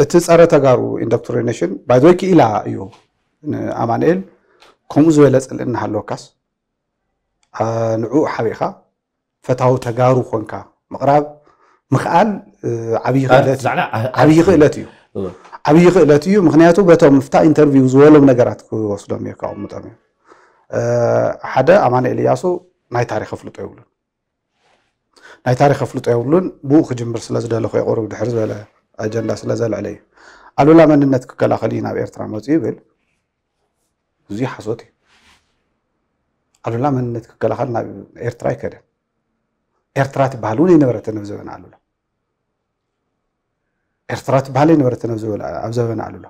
እቲ ጸረ ተጋሩ ኢንዶክትሪኔሽን ባይዘወይ ክኢላ እዩ። ንኣማንኤል ከምኡ ዝበለ ጽልኢ እናሃለወካስ ንዕኡ ሓቢእካ ፈታዊ ተጋሩ ኮንካ ምቕራብ ምኽኣል ዓብዪ ክእለት እዩ። ዓብዪ ክእለት እዩ። ምክንያቱ በቶም ፍታ ኢንተርቪው ዝበሎም ነገራት ክወስዶም እየ፣ ከቐምጦም እዮም። ሓደ ኣማንኤል እያሱ ናይ ታሪክ ኣፍልጦ የብሉን። ናይ ታሪክ ኣፍልጦ የብሉን። ብኡ ክጅምር ስለ ዝደለኹ የቕርብ ድሕር ዝበለ ኣጀንዳ ስለ ዘልዕለ እዩ። ኣሉላ መንነት ክከላኸል እዩ ናብ ኤርትራ መፅኡ ይብል። እዚ ሓሶት እዩ። ኣሉላ መንነት ክከላኸል ናብ ኤርትራ ኣይከደን። ኤርትራ ትበሃል እውን ኣይነበረትን ኣብ ዘበነ ኣሉላ። ኤርትራ ትበሃል ኣይነበረትን ኣብ ዘበነ ኣሉላ።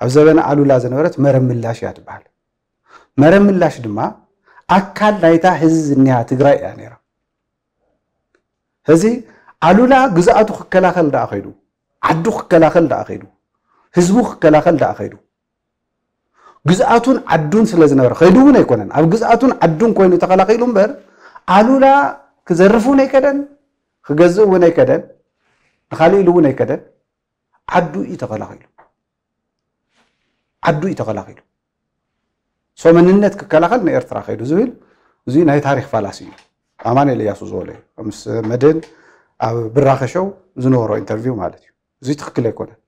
ኣብ ዘበነ ኣሉላ ዝነበረት መረብ ምላሽ እያ ትበሃል። መረብ ምላሽ ድማ ኣካል ናይታ ህዚ ዝኒሃ ትግራይ እያ ነይራ። ህዚ ኣሉላ ግዝኣቱ ክከላኸል ደኣ ኸይዱ፣ ዓዱ ክከላኸል ደኣ ኸይዱ፣ ህዝቡ ክከላኸል ደኣ ኸይዱ፣ ግዝኣቱን ዓዱን ስለ ዝነበረ ኸይዱ እውን ኣይኮነን። ኣብ ግዝኣቱን ዓዱን ኮይኑ ተኸላኺሉ እምበር ኣሉላ ክዘርፍ እውን ኣይከደን፣ ክገዝእ እውን ኣይከደን፣ ንኻሊእ ኢሉ እውን ኣይከደን። ዓዱ እዩ ተኸላኺሉ። ዓዱ እዩ ተኸላኺሉ። ሶ መንነት ክከላኸል ንኤርትራ ከይዱ ዝብል እዚ ናይ ታሪክ ፋላሲ እዩ። ኣማኑኤል እያሱ ዝበሎ እዩ። ምስ መድህን ኣብ ብራኸ ሸው ዝነበሮ ኢንተርቪው ማለት እዩ። እዚ ትክክል ኣይኮነን።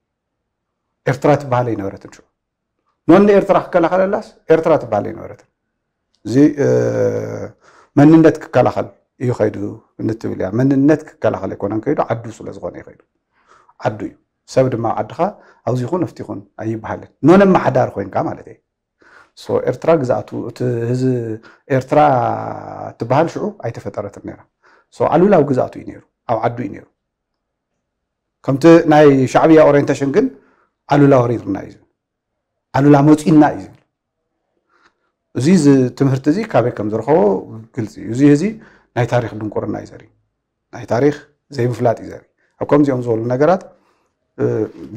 ኤርትራ ትበሃል ኣይነበረትን ሽዑ። ኖን ንኤርትራ ክከላኸለላስ ኤርትራ ትበሃል ኣይነበረትን። እዚ መንነት ክከላኸል እዩ ከይዱ እንትብል እያ። መንነት ክከላኸል ኣይኮነን ከይዱ፣ ዓዱ ስለ ዝኾነ እዩ ከይዱ። ዓዱ እዩ። ሰብ ድማ ኣብ ዓድኻ ኣብዚ ይኹን ኣብቲ ይኹን ኣይበሃልን። ኖን ኣመሓዳሪ ኮይንካ ማለት እየ። ሶ ኤርትራ ግዝኣቱ እቲ ህዚ ኤርትራ ትበሃል ሽዑ ኣይተፈጠረትን ነይራ። ሶ ኣሉላ ኣብ ግዝኣቱ እዩ ነይሩ፣ ኣብ ዓዱ እዩ ነይሩ። ከምቲ ናይ ሻዕብያ ኦሪየንቴሽን ግን ኣሉላ ወሪርና እዩ ዝብል። ኣሉላ መፂና እዩ ዝብል። እዚ ትምህርቲ እዚ ካበይ ከም ዝረኸቦ ግልፂ እዩ። እዚ ህዚ ናይ ታሪክ ድንቁርና እዩ ዘርኢ፣ ናይ ታሪክ ዘይምፍላጥ እዩ ዘርኢ። ኣብ ከምዚኦም ዝበሉ ነገራት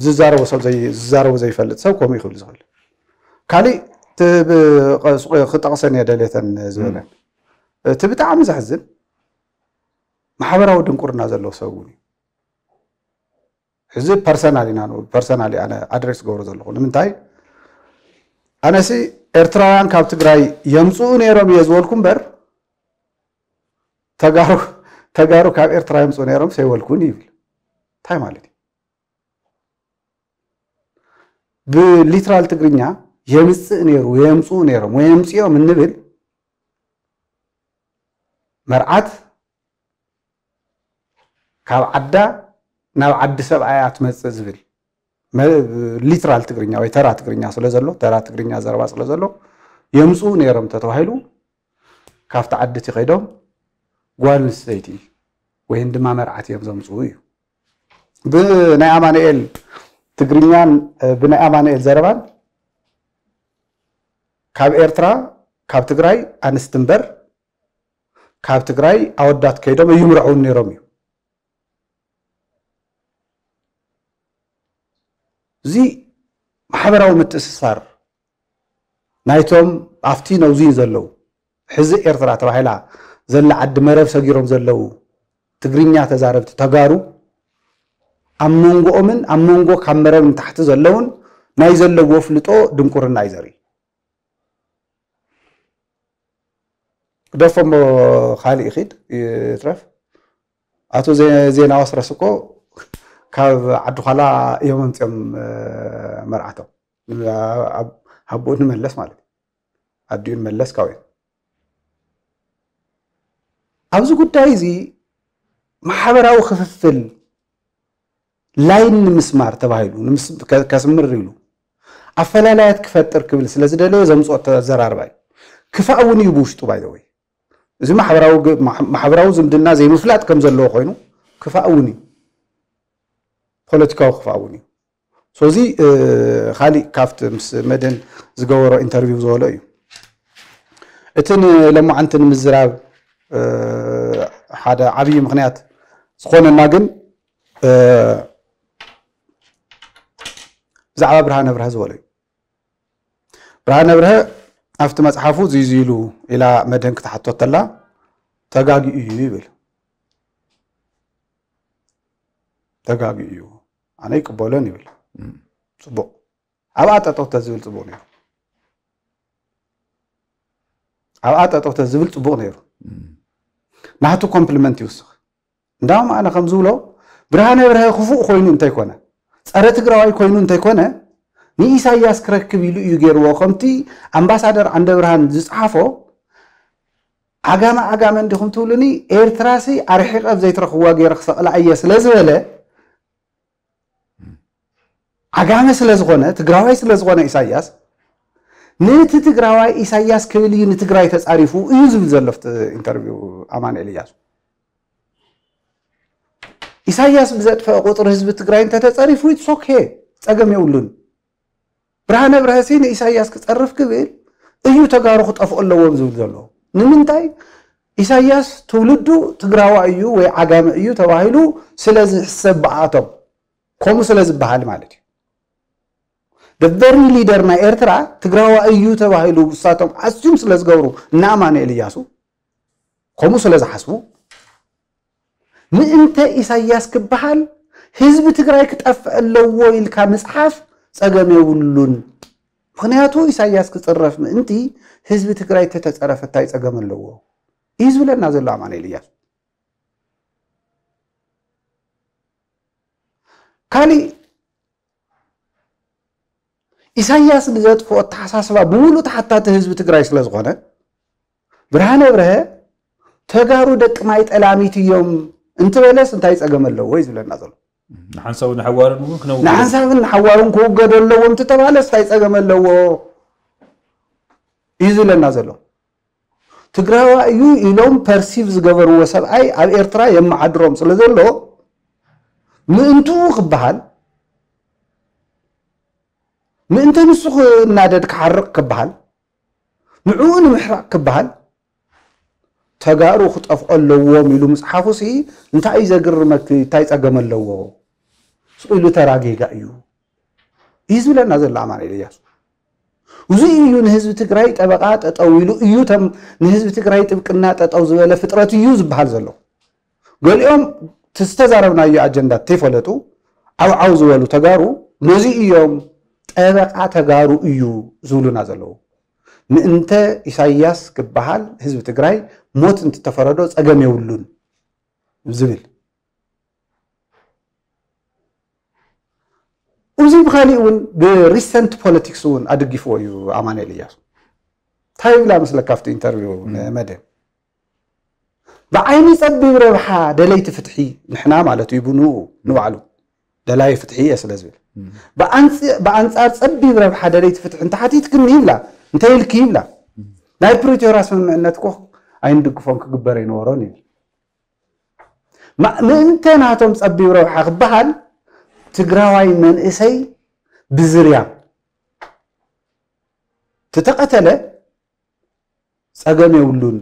ዝዛረቦ ሰብ ዝዛረቦ ዘይፈልጥ ሰብ ከምኡ ይኽብል ዝኽእል። ካሊእ ክጠቕሰን እየ ደልየተን ዝበለን እቲ ብጣዕሚ ዘሕዝን ማሕበራዊ ድንቁርና ዘለዎ ሰብ እውን እዩ። እዚ ፐርሰናል ኢና ንብል፣ ፐርሰናል ኣነ ኣድሬስ ገብሮ ዘለኹ። ንምንታይ ኣነሲ ኤርትራውያን ካብ ትግራይ የምፅኡ ነይሮም እየ ዝበልኩ እምበር ተጋሩ ተጋሩ ካብ ኤርትራ የምፅኡ ነይሮም ሰይበልኩን ይብል። እንታይ ማለት እዩ? ብሊትራል ትግርኛ የምፅእ ነይሩ የምፅኡ ነይሮም ወይ የምፅኦም እንብል መርዓት ካብ ዓዳ ናብ ዓዲ ሰብኣያ ትመፅእ ዝብል ሊትራል ትግርኛ ወይ ተራ ትግርኛ ስለ ዘሎ፣ ተራ ትግርኛ ዘረባ ስለ ዘሎ የምፅኡ ነይሮም ተተባሂሉ ካብቲ ዓዲ እቲ ከይዶም ጓል ኣንስተይቲ ወይን ድማ መርዓት እዮም ዘምፅኡ እዩ። ብናይ ኣማኑኤል ትግርኛን ብናይ ኣማኑኤል ዘረባን ካብ ኤርትራ ካብ ትግራይ ኣንስቲ እምበር ካብ ትግራይ ኣወዳት ከይዶም ኣይምርዐውን ነይሮም እዩ። እዚ ማሕበራዊ ምትእስሳር ናይቶም ኣብቲ ነውዚ ዘለዉ ሕዚ ኤርትራ ተባሂላ ዘላ ዓዲ መረብ ሰጊሮም ዘለዉ ትግርኛ ተዛረብቲ ተጋሩ ኣብ መንጎኦምን ኣብ መንጎ ካብ መረብ ንታሕቲ ዘለውን ናይ ዘለዎ ፍልጦ ድንቁርና እዩ ዘርኢ። ግደፎ እሞ ካልእ ይኺድ ይትረፍ። ኣቶ ዜና ዋስረስ እኮ ካብ ዓዲ ኳላ እዮም ኣምፅኦም መርዓቶም። ኣቦኡ ንመለስ ማለት እዩ። ኣዲኡ ንመለስ ካብኡ እዮም። ኣብዚ ጉዳይ እዚ ማሕበራዊ ክፍፍል ላይን ንምስማር ተባሂሉ ከስምር ኢሉ ኣፈላላያት ክፈጥር ክብል ስለ ዝደለየ ዘምፅኦ ኣዘራርባ እዩ። ክፋእ እውን እዩ ብውሽጡ ባይዘወይ። እዚ ማሕበራዊ ዝምድና ዘይምፍላጥ ከም ዘለዎ ኮይኑ ክፋእ እውን እዩ። ፖለቲካዊ ክፋእ እውን እዩ። ሶዚ ካሊእ ካብቲ ምስ መድን ዝገበሮ ኢንተርቪው ዝበሎ እዩ። እቲ ንለማዓንቲ ንምዝራብ ሓደ ዓብዪ ምክንያት ዝኾነና ግን ብዛዕባ ብርሃነ ብርሀ ዝበሎ እዩ። ብርሃነ ብርሀ ኣብቲ መፅሓፉ ዝይዝይሉ ኢላ መድን ክትሓቶ ተላ ተጋጊኡ እዩ ይብል። ተጋጊኡ እዩ። ኣነ ይቅበሎን ይብል። ጽቡቅ። ኣብኣ ጠጠው ተዝብል ጽቡቅ ነይሩ። ኣብኣ ጠጠው ተዝብል ጽቡቅ ነይሩ። ናቱ ኮምፕሊመንት ይውስኽ። እንዳውም ኣነ ከም ዝብሎ፣ ብርሃነ ብርሀ ክፉእ ኮይኑ እንተይኮነ፣ ጸረ ትግራዋይ ኮይኑ እንተይኮነ፣ ንኢሳያስ ክረክብ ኢሉ እዩ ገይርዎ። ከምቲ ኣምባሳደር ዓንደ ብርሃን ዝጸሓፎ፣ ዓጋመ ዓጋመ እንዲኹም ትብሉኒ፣ ኤርትራሲ ኣርሒቐ ኣብ ዘይትረኽብዋ ገይረ ክሰቕላ እየ ስለ ዝበለ፣ ዓጋመ ስለ ዝኾነ፣ ትግራዋይ ስለ ዝኾነ ኢሳያስ፣ ነቲ ትግራዋይ ኢሳያስ ክብል እዩ ንትግራይ ተጻሪፉ እዩ ዝብል ዘሎ ኣብቲ ኢንተርቪው ኣማኑኤል እያሱ። ኢሳያስ ብዘጥፈአ ቁጽሪ ህዝቢ ትግራይ እንተተጸሪፉ፣ it's okay፣ ጸገም የብሉን። ብርሃነ ብርሀሲ ንኢሳያስ ክጸርፍ ክብል እዩ ተጋሩ ክጠፍኡ ኣለዎም ዝብል ዘሎ። ንምንታይ? ኢሳያስ ትውልዱ ትግራዋ እዩ ወይ ዓጋመ እዩ ተባሂሉ ስለ ዝሕሰብ ብኣቶም። ከምኡ ስለ ዝበሃል ማለት እዩ። The very leader ናይ ኤርትራ ትግራዋ እዩ ተባሂሉ እሳቶም ኣስዩም ስለ ዝገብሩ፣ እና ኣማኑኤል እያሱ ከምኡ ስለ ዝሓስቡ፣ ምእንተ ኢሳያስ ክበሃል ህዝቢ ትግራይ ክጠፍእ ኣለዎ ኢልካ ምጽሓፍ ጸገም የብሉን። ምኽንያቱ ኢሳያስ ክጽረፍ ምእንቲ ህዝቢ ትግራይ ተተጸረፈ እንታይ ጸገም ኣለዎ እዩ ዝብለና ዘሎ ኣማኑኤል እያሱ። ካሊእ ኢሳያስ ንዘጥፍኦ ኣተሓሳስባ ብምሉእ ተሓታቲ ህዝቢ ትግራይ ስለ ዝኾነ፣ ብርሃነ ብርሀ ተጋሩ ደቂ ማይ ጠላሚት እዮም እንትበለስ እንታይ ጸገም ኣለዎ እዩ ዝብለና ዘሎ። ንሓንሳብን ንሓዋሩን እውን ክነውግድ ንሓንሳብን ንሓዋሩን ክውገዱ ኣለዎም እንተተባለስ እንታይ ጸገም ኣለዎ እዩ ዝብለና ዘሎ። ትግራዋ እዩ ኢሎም ፐርሲቭ ዝገበርዎ ሰብኣይ ኣብ ኤርትራ የመዓድሮም ስለ ዘሎ፣ ምእንትኡ ክበሃል፣ ምእንተ ንሱ ክናደድ ክሓርቕ ክበሃል፣ ንዕኡ ንምሕራቕ ክበሃል፣ ተጋሩ ክጠፍኦ ኣለዎም ኢሉ ምጽሓፉሲ እንታይ እዩ ዘግርመኪ? እንታይ ጸገም ኣለዎ? ስቕ ኢሉ ተራ ጌጋ እዩ እዩ ዝብለና ዘሎ ኣማኑኤል እያሱ። እዚ እዩ ንህዝቢ ትግራይ ጠበቓ ጠጠው ኢሉ እዩ፣ ተም ንህዝቢ ትግራይ ጥብቅና ጠጠው ዝበለ ፍጥረት እዩ ዝበሃል ዘሎ። ገሊኦም እቲ ዝተዛረብናዮ ኣጀንዳ ተይፈለጡ ዓውዓው ዝበሉ ተጋሩ ነዚ እዮም ጠበቓ ተጋሩ እዩ ዝብሉና ዘለዉ። ምእንተ ኢሳያስ ክበሃል ህዝቢ ትግራይ ሞት እንትተፈረዶ ጸገም የብሉን ዝብል። እዚ ብኻሊእ እውን ብሪሰንት ፖለቲክስ እውን ኣደጊፍዎ እዩ ኣማኑኤል እያሱ። እንታይ ይብላ መስለካ ኣብቲ ኢንተርቪው ንመደ? ብዓይኒ ጸቢብ ረብሓ ደለይቲ ፍትሒ ንሕና ማለት እዩ ብንኡ ንባዕሉ ደላይ ፍትሒ እየ ስለ ዝብል፣ ብኣንጽ- ብኣንጻር ጸቢብ ረብሓ ደለይቲ ፍትሒ እንተሓቲትክኒ ይብላ፣ እንተ ኢልኪ ይብላ፣ ናይ ፕሪቶርያ ስምምዕነት እኮ ኣይንድግፎን ክግበር ኣይነበሮን ይብል። ማ- ምእንተ ናቶም ጸቢብ ረብሓ ክበሃል ትግራዋይ መንእሰይ ብዝርያ ተተቐተለ ጸገም የብሉን።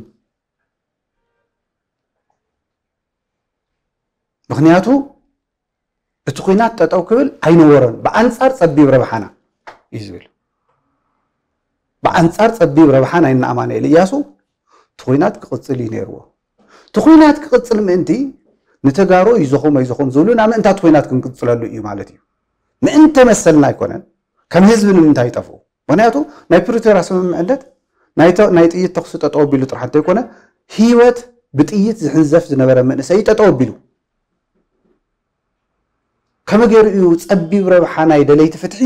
ምኽንያቱ እቲ ኲናት ጠጠው ክብል ኣይነበሮን፣ ብኣንጻር ጸቢብ ረብሓና እዩ ዝብል። ብኣንጻር ጸቢብ ረብሓ ናይ እነ ኣማኑኤል እያሱ እቲ ኲናት ክቕጽል እዩ ነይርዎ። እቲ ኲናት ክቕጽል ምእንቲ ንተጋሩ ይዞኹም ኣይዞኹም ዝብሉና ምእንታት ኲናት ክንቅጽለሉ እዩ ማለት እዩ። ምእንተ መሰልና ኣይኮነን፣ ከም ህዝቢ ንምንታይ ይጠፍኡ? ምኽንያቱ ናይ ፕሪቶርያ ስምምዕነት ናይ ተ- ናይ ጥይት ተኹሲ ጠጠው ኣቢሉ ጥራሕ እንተይኮነ፣ ህይወት ብጥይት ዝሕንዘፍ ዝነበረ መንእሰይ ጠጠው ኣቢሉ። ከመይ ገይሩ እዩ ጸቢብ ረብሓ ናይ ደለይቲ ፍትሒ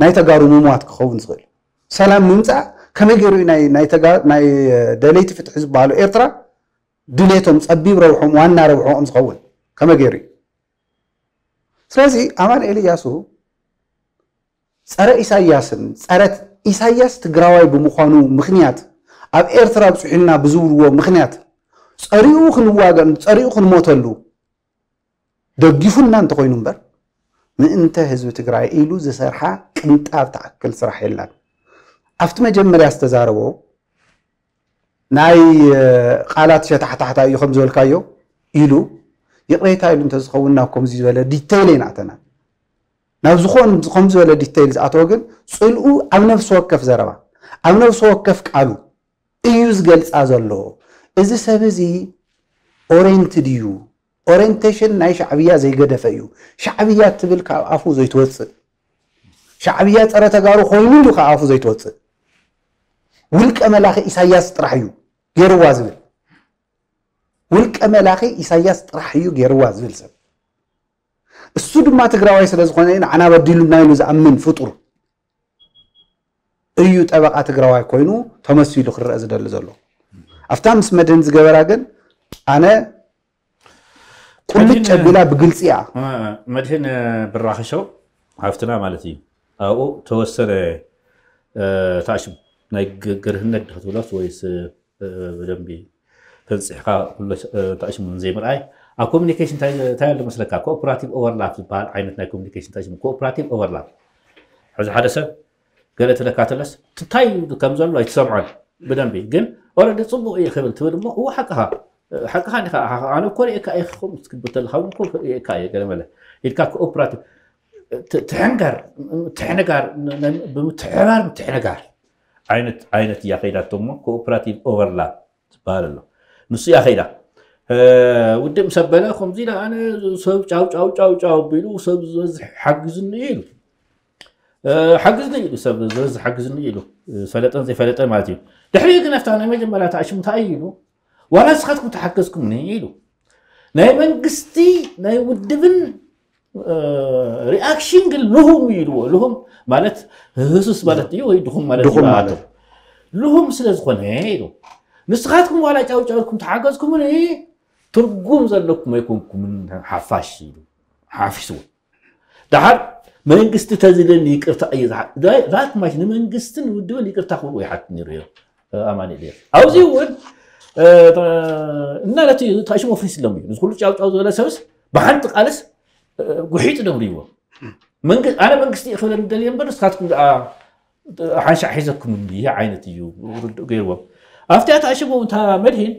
ናይ ተጋሩ ምሟት ክኸውን ዝኽእል? ሰላም ምምጻእ ከመይ ገይሩ እዩ ናይ ናይ ተጋ- ናይ ደለይቲ ፍትሒ ዝበሃሉ ኤርትራ ድሌቶም ጸቢብ ረብሖም ዋና ረብሖም ዝኸውን ከመይ ገይሩ እዩ? ስለዚ ኣማኑኤል እያሱ ጸረ ኢሳያስን ጸረ ኢሳያስ ትግራዋይ ብምዃኑ ምኽንያት ኣብ ኤርትራ ኣብጽሑና ብዝብልዎ ምኽንያት ጸሪኡ ክንዋገን ጸሪኡ ክንሞተሉ ደጊፉና እንተኾይኑ እምበር ምእንተ ህዝቢ ትግራይ ኢሉ ዝሰርሓ ቅንጣብ ትኣክል ስራሕ የላን። ኣብቲ መጀመርያ ዝተዛረቦ ናይ ቃላት ሸታሕታሕታ እዩ ከም ዝበልካዮ ኢሉ ይቕሬታ ኢሉ እንተዝኸውን ናብ ከምዚ ዝበለ ዲተይል ኣይንኣተናን። ናብ ዝኾን ከም ዝበለ ዲተይል ዝኣተወ ግን ጽልኡ ኣብ ነፍሲ ወከፍ ዘረባ ኣብ ነፍሲ ወከፍ ቃሉ እዩ ዝገልጻ ዘሎ። እዚ ሰብ እዚ ኦሬንትድ እዩ፣ ኦሪንቴሽን ናይ ሻዕብያ ዘይገደፈ እዩ። ሻዕብያ ትብል ካብ ኣፉ ዘይትወፅእ፣ ሻዕብያ ፀረ ተጋሩ ኮይኑ ኢሉ ካብ ኣፉ ዘይትወፅእ፣ ውልቀ መላኺ ኢሳያስ ጥራሕ እዩ ገይርዋ ዝብል፣ ውልቀ መላኺ ኢሳያስ ጥራሕ እዩ ገይርዋ ዝብል ሰብ፣ እሱ ድማ ትግራዋይ ስለ ዝኾነ ንዓና በዲሉና ኢሉ ዝኣምን ፍጡር እዩ ጠበቓ ትግራዋይ ኮይኑ ተመሲሉ ክረአ ዝደሊ ዘሎ። ኣብታ ምስ መድህን ዝገበራ ግን ኣነ ቁልጭ ኣቢላ ብግልፂ እያ። መድህን ብራኸሸው ሃፍትና ማለት እዩ። ኣብኡ ተወሰነ ታሽም ናይ ግርህነት ድክትብሎስ ወይስ ብደንቢ ተንፅሕካ ኩሎ ታሽሙ ዘይምርኣይ ኣብ ኮሚኒኬሽን እንታይ ኣሎ መስለካ? ኮኦፕራቲቭ ኦቨርላፕ ዝበሃል ዓይነት ናይ ኮሚኒኬሽን ታሽሙ ኮኦፕራቲቭ ኦቨርላፕ ሕዚ ሓደ ሰብ ገለ ትለካ ተለስ እንታይ ከም ዘሎ ኣይትሰምዖን ብደንቢ ግን ኦረዲ ፅቡቅ እዩ ክብል ትብል እሞ እዎ ሓቅኻ ሓቅኻ ዲኻ ኣነ እኮ ሪእካ እየ ክኸውን ክትብል ተለካ እውን እኮ ሪእካ እየ ገለ መለ ኢልካ ኮኦፕራቲቭ ትሕንጋር ትሕንጋር ብምትሕባር ምትሕንጋር ዓይነት ዓይነት እያ ከይዳቶ እሞ ኮኦፕራቲቭ ኦቨርላፕ ዝበሃል ኣሎ ንሱ እያ ከይዳ ውድእ ምስ ኣበለ ከምዚ ኢለ ኣነ ሰብ ጫው ጫው ጫው ጫው ኣቢሉ ሰብ ዝበዝሕ ሓግዝኒ ኢሉ ሓግዝኒ ኢሉ ሰብ ዝበዝሕ ሓግዝኒ ኢሉ ፈለጠን ዘይፈለጠን ማለት እዩ ድሕሪ ግን ኣብታ ናይ መጀመርያ ተኣሽሙ እንታይ ኢሉ ዋላ ንስኻትኩም ተሓገዝኩምኒ ኢሉ ናይ መንግስቲ ናይ ውድብን ሪኣክሽን ግን ልሁም ይልዎ ልሁም ማለት ህሱስ ማለት እዩ ወይ ድኹም ማለት ድኹም እዩ ማለት። ልሁም ስለ ዝኾነ ኢሉ ንስኻትኩም ዋላ ጫውጫውኩም ተሓገዝኩምኒ ትርጉም ዘለኩም ኣይኮንኩምን ሓፋሽ ኢሉ ሓፊስዎ ደሓር መንግስቲ ተዝለኒ ይቅርታ እየ ዝሓ- ዳ- ዳት ማሽ ንመንግስትን ውድብን ይቅርታ ክብሉ ይሓት ነይሩ እዮም ኣማኑኤል እዮም ኣብዚ እውን እና ነቲ ታሽሞ ፍሪስ ሎም እዩ ንዚ ኩሉ ጫውጫው ዝበለ ሰብስ ብሓንቲ ቃልስ ጉሒጥ ደብርዎ ኣነ መንግስቲ ክብለ ደልየ እምበር ንስካትኩም ደኣ ሓንሻዕ ሒዘኩም እንዲ ዓይነት እዩ ርድእ ገይርዎም ኣብቲ ኣታ ሽቦ እንታ መድሂን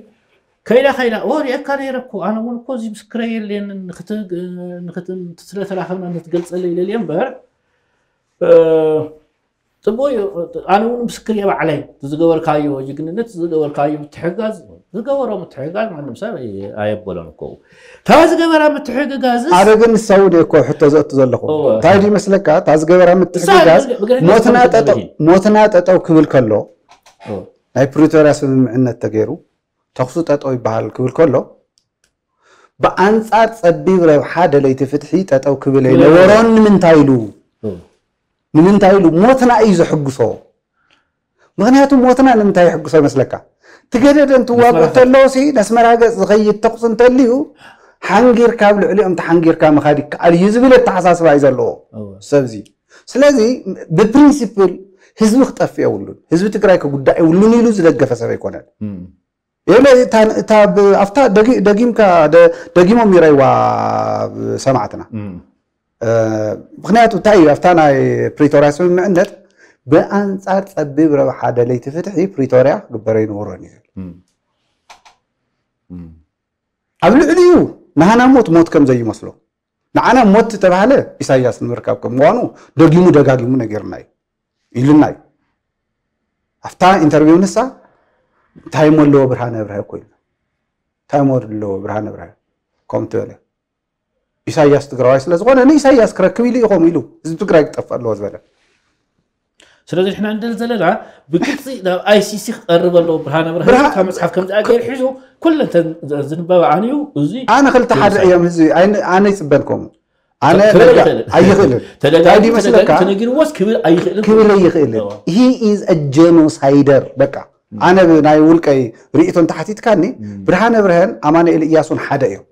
ከይዳ ከይዳ ኦ ሪአካ ነይረ እኮ ኣነ እውን እኮ እዚ ምስክረ የለን ስለተራኸብና ንትገልፀለ ይለልየ እምበር ፅቡቅ እዩ ኣነ እውን ምስክር እየ ባዕለይ ዝገበርካዮ ጅግንነት ዝገበርካዮ ምትሕጋዝ ዝገበሮ ምትሕጋዝ ማንም ሰብ ኣየበሎን እኮ እታ ዝገበራ ምትሕግጋዝ ኣነ ግን ንሳ እውን እኮ ሕቶ ዘእቱ ዘለኹ እንታይ ድዩ መስለካ እታ ዝገበራ ምትሕግጋዝ ሞትና ጠጠው ክብል ከሎ ናይ ፕሪቶርያ ስምምዕነት ተገይሩ ተኽሱ ጠጠው ይበሃል ክብል ከሎ ብኣንፃር ፀቢብ ረብሓ ደለይቲ ፍትሒ ጠጠው ክብል ኣይነበሮን ንምንታይ ኢሉ ንምንታይ ኢሉ ሞትና እዩ ዘሕጉሶ ምክንያቱ ሞትና ንምንታይ ይሕጉሶ ይመስለካ ትገደደ እንትዋግእ እንተለዎ ሲ ነስመራ ገፅ ዝኸይድ ተኩስ እንተልዩ ሓንጊርካ ኣብ ልዕሊኦም ተሓንጊርካ ምኻድ ይከኣል እዩ ዝብል ኣተሓሳስባ እዩ ዘለዎ ሰብዚ ስለዚ ብፕሪንሲፕል ህዝቢ ክጠፍእ የብሉን ህዝቢ ትግራይ ክጉዳእ የብሉን ኢሉ ዝደገፈ ሰብ ኣይኮነን የለ ኣብታ ደጊምካ ደጊሞም ይረይዋ ሰማዕትና ምክንያቱ እንታይ እዩ ኣብታ ናይ ፕሪቶርያ ስምምዕነት ብኣንፃር ፀቢብ ረብሓ ደለይቲ ፍትሒ ፕሪቶርያ ክግበር ኣይነበሮን እዩ ኣብ ልዕሊኡ ንሃና ሞት ሞት ከም ዘይመስሎ ንዓና ሞት ዝተባህለ ኢሳያስ ንምርካብ ከም ምኳኑ ደጊሙ ደጋጊሙ ነጊርና እዩ ኢሉና እዩ ኣብታ ኢንተርቪው ንሳ እንታይ ሞ ኣለዎ ብርሃነ ብርሃ እኮ ኢልና እንታይ ሞ ኣለዎ ብርሃነ ብርሃ ከም ትበለ ኢሳያስ ትግራዋይ ስለ ዝኾነ ንኢሳያስ ክረክብ ኢሉ ኢኹም ኢሉ ህዝቢ ትግራይ ክጠፍእ ኣለዎ ዝበለ ስለዚ ንሕና እንደል ዘለና ብግልፂ ናብ ኣይሲሲ ክቀርብ ኣለዎ ብርሃነ ብርሃ ካብ መፅሓፍ ከም ዝኣ ገይር ሒዙ ኩለንተን ዝንበባ ኣንዩ እዚ ኣነ ክልተ ሓደ እዮም ህዝቢ ኣነ ይፅበን ከምኡ ኣነ ኣይኽእልን ታይ መስለካ ተነጊርዎስ ክብል ኣይኽእልን ክብል ኣይኽእልን he is a genocider በቃ ኣነ ናይ ውልቀይ ርእቶ እንተሓቲትካኒ ብርሃነ ብርሀን ኣማኑኤል እያሱን ሓደ እዮም